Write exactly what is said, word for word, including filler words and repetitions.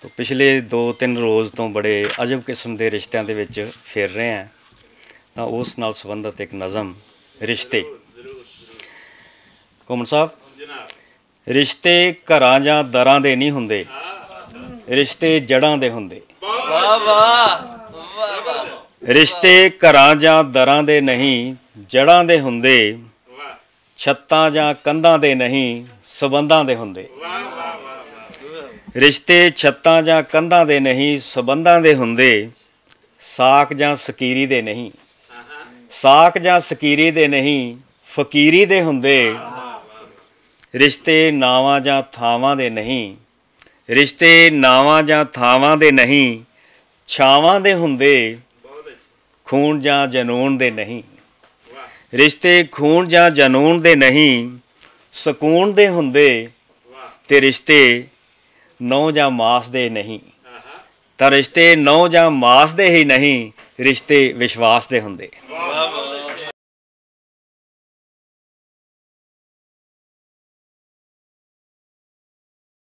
تو پچھلے دو تن روز توں بڑے عجب قسم دے رشتیاں دے وچ پھر رہے ہیں۔ تاں اس نال سبندھت اک نظم، رشتے۔ گھمن صاحب، رشتے گھراں جاں دراں دے نئیں ہوندے، رشتے جڑاں دے ہوندے۔ رشتے گھراں جاں دراں دے نئیں، جڑاں دے ہوندے۔ چھتاں جاں کندھاں دے نئیں، سبندھاں دے ہوندے۔ رشتے چھتاں جاں کندھاں دے نئیں، سبندھاں دے ہوندے۔ ساک جاں سکیری دے نئیں، ساک جاں سکیری دے نئیں، فقیری دے ہوندے۔ رشتے ناواں جاں تھاواں دے نئیں، رشتے ناواں جاں تھاواں دے نئیں، چھاواں دے ہوندے۔ خون جاں جنون دے نئیں، رشتے خون جاں جنون دے نئیں، سکون دے ہوندے۔ تے رشتے نو جاں ماس دے نئیں، تاں رشتے نو جاں ماس دے ہی نئیں، رشتے وشواس دے ہوندے۔